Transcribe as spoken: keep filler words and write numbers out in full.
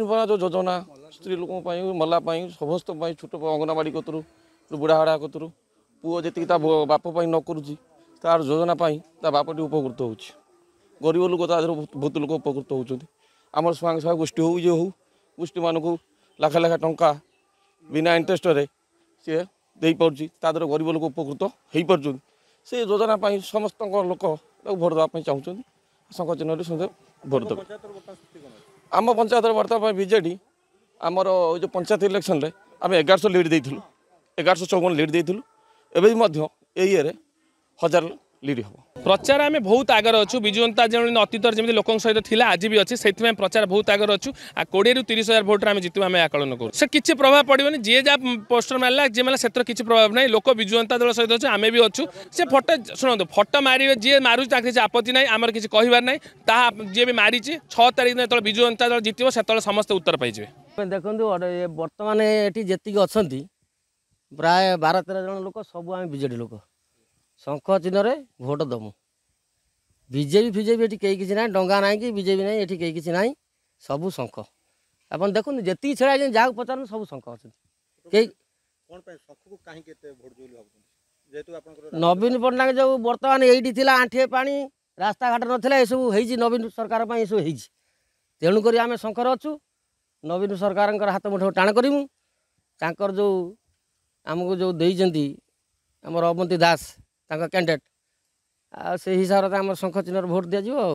ଯେଉଁ ଯୋଜନା ସ୍ତ୍ରୀ ଲୋକଙ୍କ ପାଇଁ, ମଲା ପାଇଁ, ସମସ୍ତଙ୍କ ପାଇଁ, ଛୋଟ ଅଙ୍ଗନବାଡ଼ି କତରୁ ବୁଢ଼ା ହାଡ଼ା କତରୁ ପୁଅ ଯେତିକି ତା ବାପ ପାଇଁ ନ କରୁଛି, ତାର ଯୋଜନା ପାଇଁ ତା ବାପଟି ଉପକୃତ ହେଉଛି। ଗରିବ ଲୋକ ତା ଦେହରୁ ବହୁତ ଲୋକ ଉପକୃତ ହେଉଛନ୍ତି। ଆମର ସ୍ୱୟଂ ସହାୟକ ଗୋଷ୍ଠୀ ହେଉ, ଇଏ ହେଉ, ଗୋଷ୍ଠୀମାନଙ୍କୁ ଲାଖ ଲାଖ ଟଙ୍କା ବିନା ଇଣ୍ଟରେଷ୍ଟରେ ସିଏ ଦେଇପାରୁଛି। ତା ଦେହରେ ଗରିବ ଲୋକ ଉପକୃତ ହେଇପାରୁଛନ୍ତି। ସେ ଯୋଜନା ପାଇଁ ସମସ୍ତଙ୍କ ଲୋକ ତାକୁ ଭୋଟ ଦେବା ପାଇଁ ଚାହୁଁଛନ୍ତି। ଶଙ୍ଖ ଚିହ୍ନରେ ସମସ୍ତେ ଭୋଟ ଦେବେ। ଆମ ପଞ୍ଚାୟତରେ ବର୍ତ୍ତମାନ ପାଇଁ ବିଜେଡ଼ି, ଆମର ଏଇ ଯେଉଁ ପଞ୍ଚାୟତ ଇଲେକ୍ସନରେ ଆମେ ଏଗାରଶହ ଲିଡ଼୍ ଦେଇଥିଲୁ, ଏଗାରଶହ ଚଉବନ ଲିଡ଼୍ ଦେଇଥିଲୁ। ଏବେ ବି ମଧ୍ୟ ଏଇ ଇଏରେ ହଜାର ଲିଡ୍ ହେବ। ପ୍ରଚାର ଆମେ ବହୁତ ଆଗରେ ଅଛୁ। ବିଜୁ ଜନତା ଯେମିତି ଅତୀତରେ ଯେମିତି ଲୋକଙ୍କ ସହିତ ଥିଲା, ଆଜି ବି ଅଛି। ସେଥିପାଇଁ ପ୍ରଚାର ବହୁତ ଆଗରେ ଅଛୁ। ଆଉ କୋଡ଼ିଏରୁ ତିରିଶ ହଜାର ଭୋଟରେ ଆମେ ଜିତିବୁ, ଆମେ ଆକଳନ କରୁ। ସେ କିଛି ପ୍ରଭାବ ପଡ଼ିବନି। ଯିଏ ଯାହା ପୋଷ୍ଟର ମାରିଲା, ଯିଏ ମାରିଲା, ସେଥିରେ କିଛି ପ୍ରଭାବ ନାହିଁ। ଲୋକ ବିଜୁ ଜନତା ଦଳ ସହିତ ଅଛୁ, ଆମେ ବି ଅଛୁ। ସେ ଫଟୋ ଶୁଣନ୍ତୁ, ଫଟୋ ମାରିବେ ଯିଏ ମାରୁଛି, ତାଙ୍କ କିଛି ଆପତ୍ତି ନାହିଁ, ଆମର କିଛି କହିବାର ନାହିଁ। ତାହା ଯିଏ ବି ମାରିଛି, ଛଅ ତାରିଖ ଦିନ ଯେତେବେଳେ ବିଜୁ ଜନତା ଦଳ ଜିତିବ, ସେତେବେଳେ ସମସ୍ତେ ଉତ୍ତର ପାଇଯିବେ। ଦେଖନ୍ତୁ, ବର୍ତ୍ତମାନ ଏଠି ଯେତିକି ଅଛନ୍ତି ପ୍ରାୟ ବାର ତେର ଜଣ ଲୋକ, ସବୁ ଆମେ ବିଜେଡ଼ି ଲୋକ। ଶଙ୍ଖ ଚିହ୍ନରେ ଭୋଟ ଦେବୁ। ବିଜେପି ଫିଜେପି ଏଠି କେହି କିଛି ନାହିଁ, ଡଙ୍ଗା ନାହିଁ କି ବିଜେପି ନାହିଁ, ଏଠି କେହି କିଛି ନାହିଁ, ସବୁ ଶଙ୍ଖ। ଆପଣ ଦେଖନ୍ତୁ, ଯେତିକି ଛିଡ଼ା ହେଇଛନ୍ତି, ଯାହାକୁ ପଚାରନ୍ତୁ, ସବୁ ଶଙ୍ଖ ଅଛନ୍ତି। କେହି ନବୀନ ପଟ୍ଟନାୟକ ଯେଉଁ ବର୍ତ୍ତମାନ ଏଇଠି ଥିଲା ଆଣ୍ଠିଏ ପାଣି, ରାସ୍ତାଘାଟ ନଥିଲା, ଏସବୁ ହେଇଛି ନବୀନ ସରକାର ପାଇଁ, ଏସବୁ ହେଇଛି। ତେଣୁକରି ଆମେ ଶଙ୍ଖରେ ଅଛୁ। ନବୀନ ସରକାରଙ୍କର ହାତ ମୁଠ ଟାଣ କରିବୁ। ତାଙ୍କର ଯେଉଁ ଆମକୁ ଯେଉଁ ଦେଇଛନ୍ତି ଆମର ଅବନ୍ତୀ ଦାସ ତାଙ୍କ କ୍ୟାଣ୍ଡିଡେଟ୍, ଆଉ ସେଇ ହିସାବରେ ତ ଆମର ଶଙ୍ଖ ଚିହ୍ନରେ ଭୋଟ ଦିଆଯିବ। ଆଉ